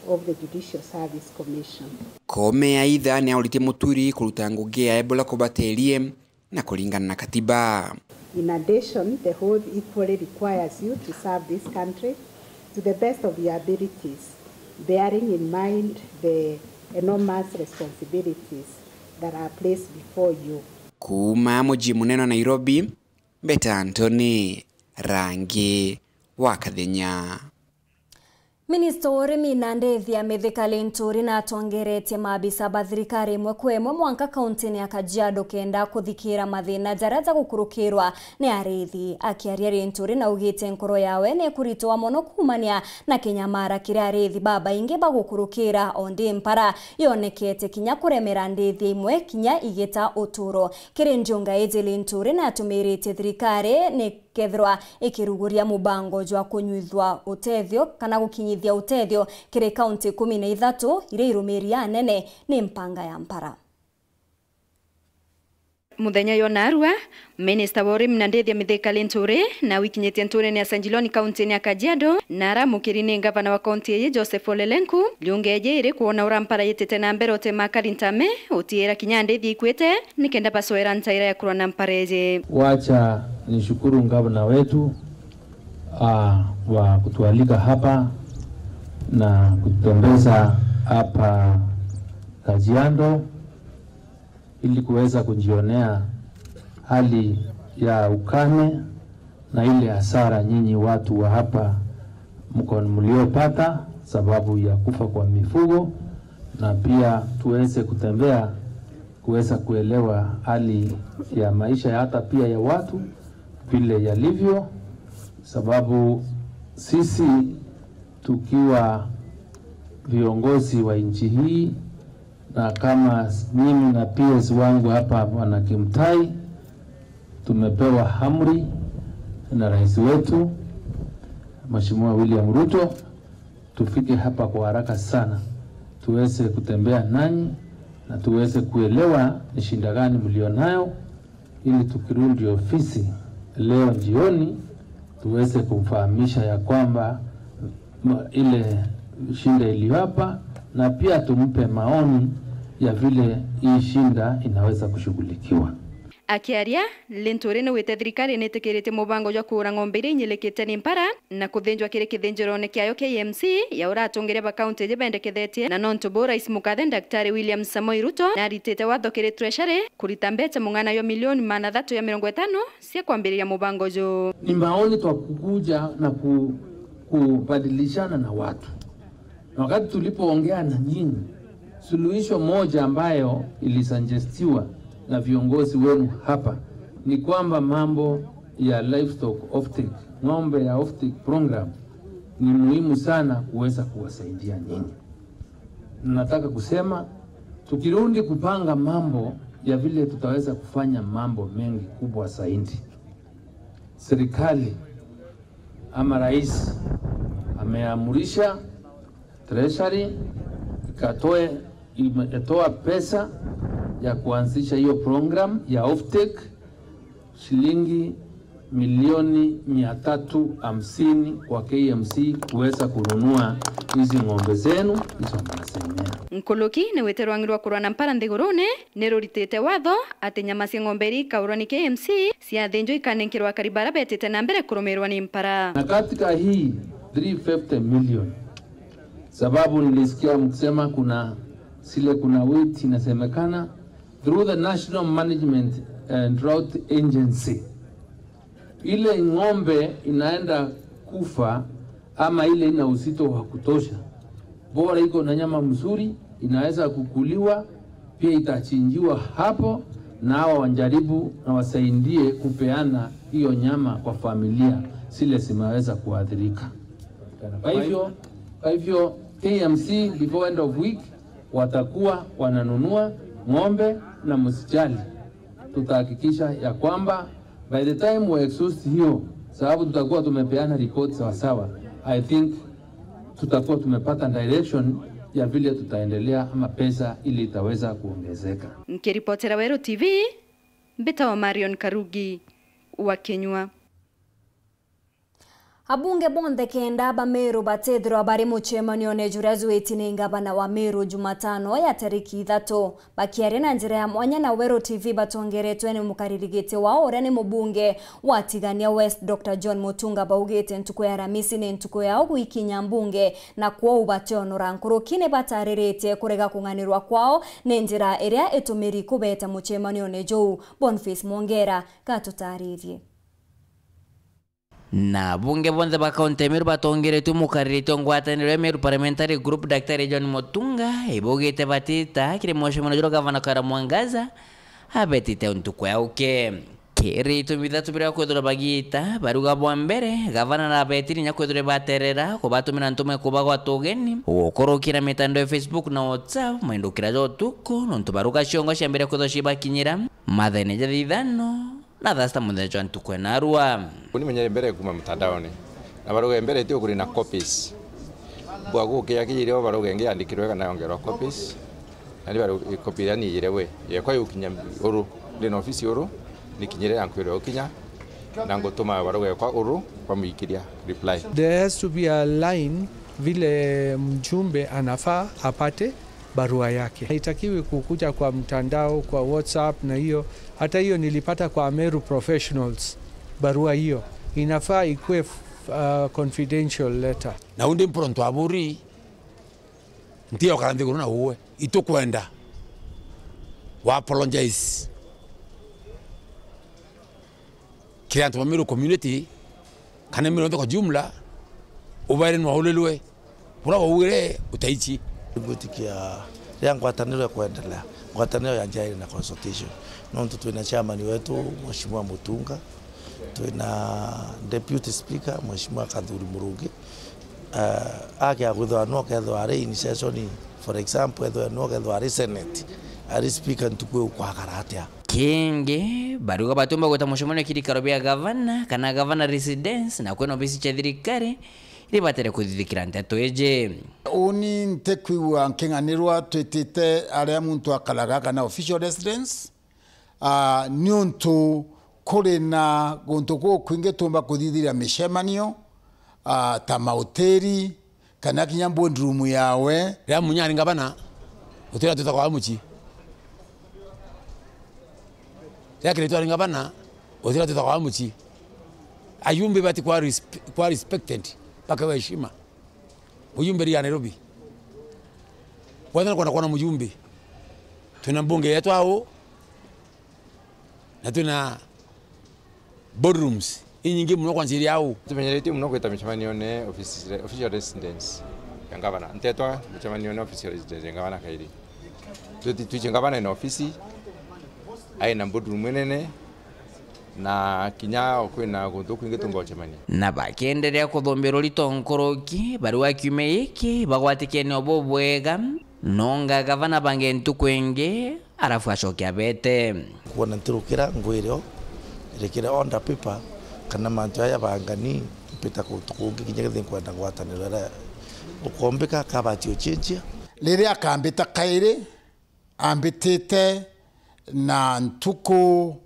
of the Judicial Service Commission. Koome aitha ni auritie Muturi kuruta ngugi yae buria kubaterie na kuringana na katiba. In addition, the oath equally requires you to serve this country to the best of your abilities, bearing in mind the enormous responsibilities that are placed before you. Kuuma mucii munene wa Nairobi, Mbeta Anthony, Rangi wa Kathenya. Minista wa urimi na ndethi ya Mithika Linturi natongeretie maabisa ba thirikari imwe kwa imwe mwanka kauntini ya Kajiado kenda kuthikira mathina jaria jagukurukirwa ni ariithi. Akiaria, Linturi naugite nkoro yawe ni ikuritwa mono kuumania na kinyamara kiria ariithi babaingi bagukurukira, o ndi mpara yonekete kinya kuremera ndiithi imwe kinya igita uturo. Kiri njunga iji, Linturi natumiritie thirikari ni kethirwa ikiruguria mubango jwa kunyuithua utethio kana gukinyithia utethio kiri kaunti ikumi na ithatu iria irumiria anene ni mpanga ya mpara. Muthenya yo narua, minista wa urimi na ndithia Mithika Linturi na wikinyitie nturene ya Sanjiloni kauntini ya Kajiado na aramukiri ni ngavana wa kaunti iyi Joseph Ole Lenku. Liunga iji iri kwona ura mpara yitite na mbere utema akari ntame, utiira kinya ndithi ikwite, nikenda bacoera ntaira ya kurwa na mpara iji. Wacha nishukuru gavana wetu, ah, wa kutualika hapa na kututembeza hapa Kajiado ili kuweza kujionea hali ya ukame na ile hasara nyinyi watu wa hapa mko mliopata sababu ya kufa kwa mifugo, na pia tuweze kutembea kuweza kuelewa hali ya maisha ya hata pia ya watu vile yalivyo, Sababu sisi tukiwa viongozi wa nchi hii, na kama mimi na P S wangu hapa, Bwana Kimtai, tumepewa amri na rais wetu, Mheshimiwa William Ruto, tufike hapa kwa haraka sana, tuweze kutembea nanyi na tuweze kuelewa ni shida gani mlionayo, ili tukirudi ofisi leo jioni tuweze kumfahamisha ya kwamba ma-, ile shida iliyo hapa, na pia tumpe maoni ya vile hii shida inaweza kushughulikiwa. Akiaria, Linturi niwite thirikari nitikiritie mubango jwa kuura ng'ombe iria inyilikite ni mpara na kuthinjwa kiri kithinjirone kiayo K M C ya uria atongeria ba kaunti iji bendekethetie, na nontu buu Rais Mukathe Daktari William Samoei Ruto naritite watho kiri Treasury kurita mbeca mung'ana jwa milioni magana athatu ya mirongo itano cia kwambiriria mubango juu. Ni maoni twa kukuja na ku-, kubadilishana na watu. Na wakati tulipoongea na nyinyi, suluhisho moja ambayo ilisuggestiwa na viongozi wenu hapa ni kwamba mambo ya livestock offtake, ng'ombe ya offtake program, ni muhimu sana kuweza kuwasaidia nyinyi. Nataka kusema, tukirudi kupanga mambo ya vile tutaweza kufanya mambo mengi kubwa zaidi, serikali ama rais ameamurisha Treasury ikatoe, imetoa pesa ya kuanzisha hiyo program ya offtake, shilingi milioni mia tatu hamsini kwa K M C kuweza kununua hizi ng'ombe zenu, hizo mnasemea. Nkuluki ni wite rwang'i rwa kurwa na mpara nthigurune ni ruritite watho ati nyama cia ng'ombe iria ikaurwa ni K M C ciathinjwa ikanenkerwa akari bara betite na mbere kurumirwa ni mpara. Na katika hii three fifty million, sababu nilisikia mkisema kuna zile, kuna weight inasemekana, through the National Management and Drought Agency, ile ng'ombe inaenda kufa ama ile ina uzito wa kutosha, bora iko na nyama mzuri, inaweza kukuliwa, pia itachinjiwa hapo, na hawa wajaribu na wasaidie kupeana hiyo nyama kwa familia zile zimeweza kuathirika. Kwa hivyo, kwa hivyo K M C before end of week watakuwa wananunua ng'ombe, na msijali, tutahakikisha ya kwamba by the time we exhaust hiyo, sababu tutakuwa tumepeana report sawasawa, I think tutakuwa tumepata direction ya vile tutaendelea ama pesa ile itaweza kuongezeka. Nkiripotera Weru T V, mbitawa Marion Karugi wa Kinyua. Abunge bonthe kenda ba Meru batethirwa bari mucemanione juria jwiti ni ngavana wa Meru Jumatano ya tariki ithatu. Bakiaria na njira ya mwanya na Weru T V batongeretwe ni mukariri giti wao uria ni mubunge wa Tigania West, Doctor John Mutunga, baugite ntuku ya Aramisi ni ntuku yao gwikinya mbunge, na kwou bationora nkuruki ni batariritie kurega kung'anirwa kwao ni njira iria itumiri kubeta mucemanione juu. Boniface Mwongera gatutaririe. Na abunge bonthe ba kaunti ya Meru batongeretue mukariritie ngwataniro ya Meru Parliamentary Group, Daktari John Mutunga, ibaugite batita kiri mucemanione juria gavana Kawira Mwangaza abetite ntuku ya uke. Kiri itumi bithatu biria kwithirwa bagiita, baruga bwa mbere, gavana nabetiri inya kwithirwa baterera kubatumira ntumwa kubagwata ugeni, gukurukira mitandao ya Facebook na WhatsApp, maindukira ja utuku, nontu baruga ciongo ciambire kwithirwa cibakinyira mathaine ja thaa ithano na thaa sita muthenya jwa ntuku ya narua. Uni menyere mbere kuma mtandaoni. Na baruge mbere ti ukuri na copies. Bwa gukia kijire o baruge ngi andikirwe kana yongerwa copies. Na ni baru copy iria ni ijire we. Yekwa yukinya uru. Ndi na ofisi uru. Ni kinyire ya nkwire ukinya. Na ngutuma baruge kwa uru kwa muikiria reply. There has to be a line vile mjumbe anafaa apate barua yake. Haitakiwi kukuja kwa mtandao, kwa WhatsApp na hiyo. Hata hiyo nilipata kwa Meru Professionals, barua hiyo. Inafaa ikuwe, uh, confidential letter. Na undi mpuro ntwaburi, ntiokara nthiguru na uwe. Itukwenda wa apologize kiri antu ba Meru community, kana Meru yonthe kwa jumla, ubaire nwaulilwe. Buria waugire utaici. Ngwitikia riria ngwataniro ikwendelea, ngwataniro ya njira iri na consultation. Nontu twina chairman wetu, Mheshimiwa Mutunga, Twina Deputy Speaker, Mheshimiwa Kathuri Murungi, eh, ake akwithirwa nwe akethirwa ari in session, for example, ethirwa nwe akethirwa ari Senate, ari Speaker, ntuku iu kwakara atia? Kingi, bariuga batiumba gwita mucemanio kirikaro bia gavana kana gavana residence, na kwina obisi cia thirikari iria ibatere kuthithikira nteto iji. Uni ntikwigua nking'anirwa twitite aria muntu akaraga kana official residence, ah, niuntu kuri na guntu gukwingi tuumba kuthithiria micemanio, ah, ta mahoteli, kana kinya boardroom yawe. Riria Munya ari ngavana, gutira twitagwa wa mucii. Riria Kiraitu ari ngavana, gutira twitagwa wa mucii. Ayumbe bati kwa resp-, kwa respected, bakewa heshima. Mujumbe ria Nairobi. Bwethana kwenda kwona mujumbe. Twina mbunge yetu au, na twina boardrooms inyingi muno kwanjiria au. Tumenyerete muno gwita micemanione office, official residence ya ngavana. Ntetwa micemanione official residence ya ngavana kairi. Tuti-, twiche ngavana ina ofisi, aina boardroom inene, na kinya kwina guntu kwingi tungocemania. Na bakienderea kuthumbirwa rito nkuruki, bariuga kiumia giki bagwatikenio bubwega, nonga gavana bange ntuku ingi, arafu acoke abete. Kwona ntirukira ngwire o, rikire order paper, kana mantu aya bangani, mpita kuntu kungi kinya kethi nkwenda ngwataniro iria ukombika kabati ucinjia. Riria akambita kairi, ambitite na ntuku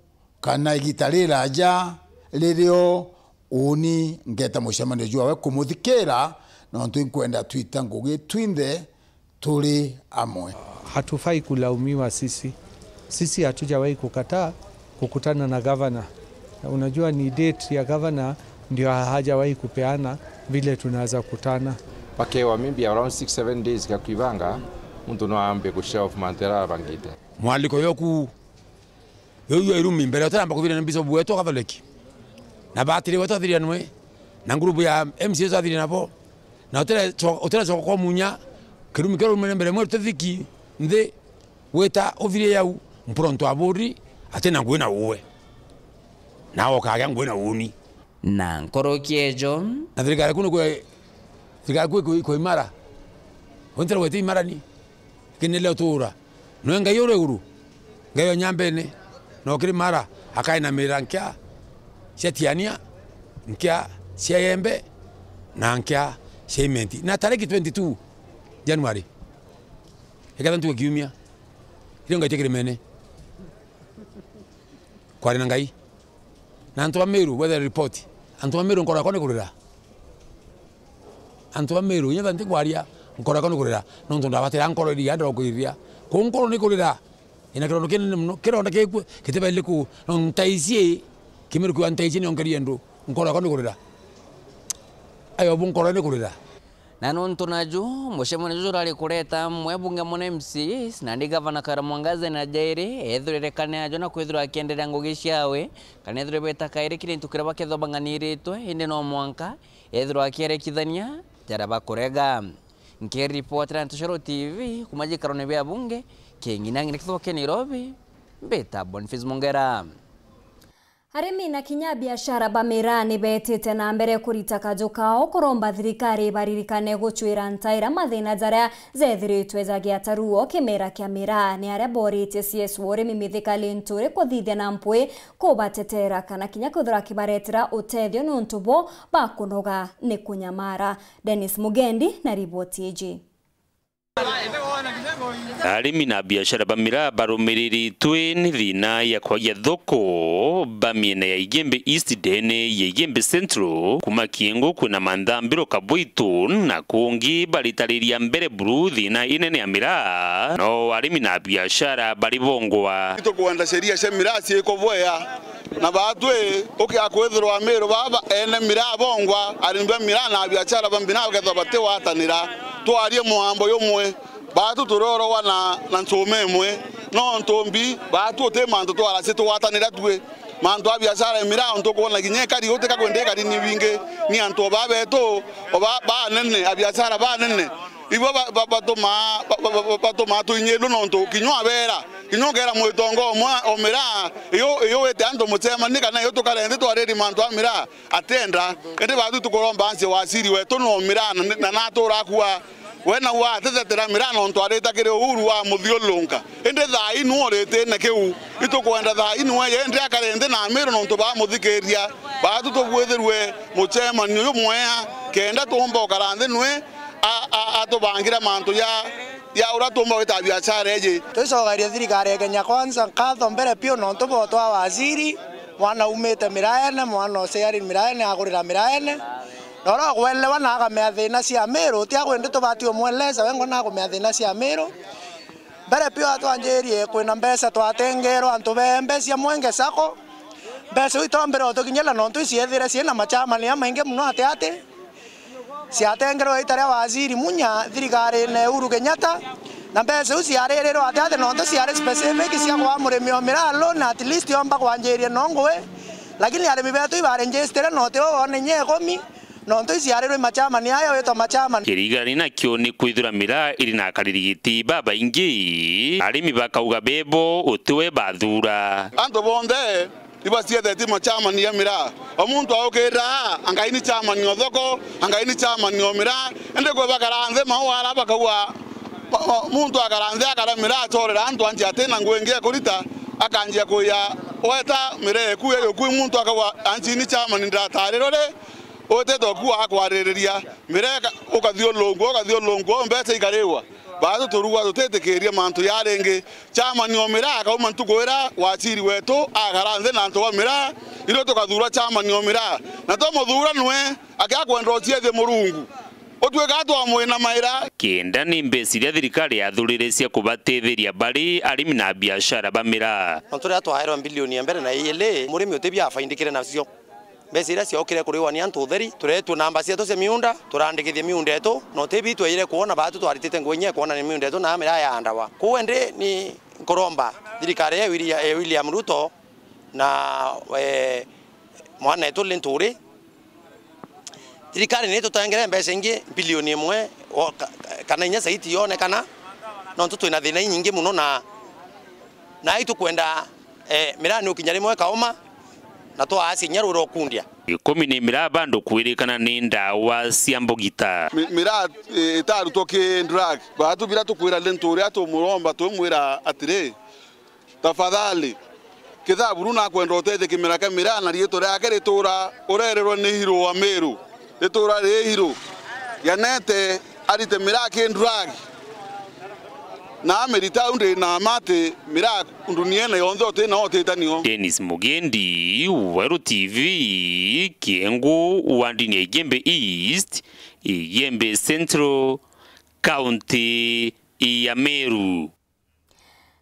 kana igita riraja, ririo uni ngeta mucemanio jwawe kumuthikira, nontu inkwenda twita ngugi twinthe turi amwe. Hatufai kulaumiwa sisi. Sisi hatujawahi kukataa kukutana na gavana. Unajua ni date ya gavana ndio hajawahi kupeana vile tunaweza kutana. Bakewa maybe around six, seven days ga kwibanga, muntu no ambe ku shelf mantu jaria arabangite. Mwaliko yoku, yo yo irumi mbere, utaramba kuthirania na Bishop wetu wa Catholic. Na batiri wetu athirianwe, na ngurubu ya M C As athirianwe nabo. Na utire cho-, utire choka kwa Munya, kirumi kia rumene mbere mweru tithiki, nthi, wita uthirie yau, mpuro ntu aburi, ati na ngui na uwe. Na okagea ngui na uni. Na nkoroki ejo. Na thirikari kunu kwe, thirikari kwe, kwe, kwe imara. Wentera wete imara ni. Kinele utura. Nwe Ngai uri iguru. Ngai o nyambene. No kiri mara, akainamira nkia cia tiania, nkia cia yembe, na nkia cia imenti. Na tariki twenty-two January, iketha ntuku kiumia, irio Ngai ti kirimene. Kwari na Ngai. Na antu ba Meru, wethe report. Antu ba Meru nkoro yakwa ni kurira. Antu ba Meru, inya ntikwaria, nkoro yakwa ni kurira. Nontu ndabatira nkoro iria ndokwiriria. Ku nkoro ni kurira. Ina kirondo kinene muno, kironda gikue, gitibaire ku, no ntaici, Kimeru kiuga ntaici ni onkerie ndu, nkoro yakwa ni kurira. Ayo bu nkoro ni kurira. Na nontu naju, mucemanio juju urari kureta amwe bunge muna M C As, nandi gavana Kawira Mwangaza na jairi, ethurerekane ajo na kwithirwa akienderea ngugi ciawe, kana ethirwe beta kairi kiri into kiria bakethwa bang'aniritwe, indi no mwanka ethirwa akierekithania jaria bakurega. Nkiripotera Ntucero T V kuma jikarone bia bunge, king'inang'ina kithoke Nairobi, mbita Boniface Mongera. Arimi na kinya biashara ba miraa ni betite na mbere kurita kaju kao kuromba thirikari ibaririkane gucwira ntaira mathina jaria jethiritwe jagiata ruo kimera kia miraa. Ni aria boritie C S wa urimi Mithika Linturi kuthithia na mpwi kubatetera kana kinya kwithirwa akibaretera utethio niuntu bo bakunoga ni kunyamara. Dennis Mugendi na riboti iji. Arimi na biashara ba miraa barumiriritwe ni thina ya kwagia thoko ba miena ya Igembe East ndene ya Igembe Central, kuma Kiengo kwina Manthambiro, Kabwitu na kungi baritariria mbere buru thina inene ya miraa, no arimi na biashara bari bongwa. Tukwenda sheria cia miraa ciikubwea. Na baatwi, ukia kwithirwa Amiru baba ene miraa bongwa, arimi ba miraa na abiachara ba miraa bakethirwa batigwatanira. Twarie mugambo jumwe, baatwi turiorogwa na, na nchuma imwe, nontu mbi, baatwi uti mantu twaraci tugwatanira twi. Mantu a biachara ya miraa, untu ukwona kinya ikari utika kwenda ikari ni bingi, ni antu o baa betu, o ba, banene, abiachara banene, ibo ba, ba, batumaa, ba, ba, ba, batumaa tuinyirwe nontu kinya abera Kinya ukeera mwitongo umwe o miraa, iyo, iyo wite antu mucemani kana iyo tukare nthi twariri mantu a miraa, atienda. Indi baatwi tukuromba ancie waziri wetu no miraa na, na natura akua. We nau atitetera miraa nontu arita kiri Uhuru wa muthiurunka. Indi thaa ii nu uritine kiu. Itukwenda thaa ii nu eye indi akare nthi na Amiru nontu bamuthikiria. Baatwi tubwithirwe mucemani uyu mwea, kenda tuumba ukara nthi nwe a, a, atubangire mantu ja, ja uria tuumba gwita biashara iji. Twicokerie thirikari ya Kenya Kwanza nkatho mbere piu nontu bwa utwaa waziri, mwana umite miraene, mwana uciari miraene, agurira miraene. Na uria ugwelewa na akamea thina cia Amiru, ti agwe ndi tubati umweleza, we ngona agumea thina cia Amiru. Mbere piu atwanjirie kwina mbeca twatengerwa antu bembe cia Mwenge Sacco. Mbeca iu itombire utukinyira nontu iciethire ciina machamani amaingi muno ati ati. Ciatengerwe ita ria waziri Munya thirikarine Uhuru Kenyatta, na mbeca iu ciaririrwe ati ati nontu ciari specific cia kwa murimi o miraa loan, at least yomba kwanjiria no ngui, lakini arimi betu ibarenjistire noti uu wone inya ikumi, nontu iciarirwe machamani aya witwa machamani. Kirigani nakio ni kwithira miraa iri na akariri giti babaingi, arimi bakauga bebo utiwe bathura. Antu bonthe ibacietheti machamani ya miraa. O muntu aukirira, angai ni chamani o thoko, angai ni chamani o miraa. Indi kwi bakara nthi mau ara bakauga, ma-, ma-, muntu akara nthi akara miraa acorera antu anti atina ngui ingi ekurita, akanjia kuya weta miraa eku eyo kwi muntu akauga, anti ni chamani ndiratariro ri, utite oku akwaririria miraa ika-, ukathiurungua, ukathiurungua, mbeca ikariwa. Baatwi turugwa tutitikiria mantu ja ringi. Chamani o miraa akauma ntuku iria waziri wetu akara nthi na antu ba miraa, irio tukathuura chamani o miraa. Na twamuthuura nwe, akia kwenda uciethie Murungu. Utwika twamwinamaira. Kenda ni mbeca iria thirikari yathurire cia kubatetheria bari arimi na biashara ba miraa. Nontu riria twaerwa mbilioni ya mbere na iili, murimi uti bia afaindikire nacio. Mbeca iria ciokire kuriwa ni antu utheri, tureetue namba cietu cia miunda, turandikithie miunda yetu, na uti bi tweire kwona baatwi twaritite ngui inya kwona ni miunda yetu na miraa yaandawa. Kwou indi ni nkuromba thirikari ya Willia-, eh, William Ruto na, eh, mwanetu Linturi, thirikari ni tutengere mbeca ingi mbilioni imwe o ka-, ka-, kana inya zaidi yonekana, nontu twina thina inyingi muno na, na itukwenda Eh, miraa ni ukinya rimwe ikauma, na twaacia inya rwira ukundia. Ikumi ni miraa bandu kwirikana ni ndawa cia mbugita. Mi-, miraa, eh, itarutwo ki drug. Baatwi biria tukwira Linturi uria tumuromba, twimwira atiri, tafadhali, kithaa buru nakwenda utethie kimera kia miraa na riitwa riake ritura urererwe ni Hiro wa Meru. Itura ri Hiro, yanete arite miraa ki drug. Na amirita au ndi na mma ati miraa nduniene yonthe uti na utite nio. Dennis Mugendi, Weru T V, Kiengu, wandini ya Igembe East, Igembe Central, County ya Meru.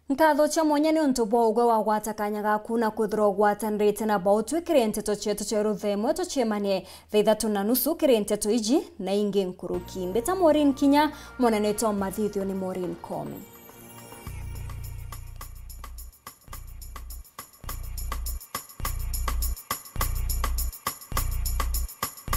Nkatho cia mwanya niuntu bwa ugwe wagwata kanya gaku na kwithirwa ugwatanirite na bautwi kiri nteto cietu cia ruthemwe. Tuciemanie thaa ithatu na nusu kiri nteto iji na ingi nkuruki. Mbita Maureen Kinya, mwana nitwa mathithio ni Maureen Koome.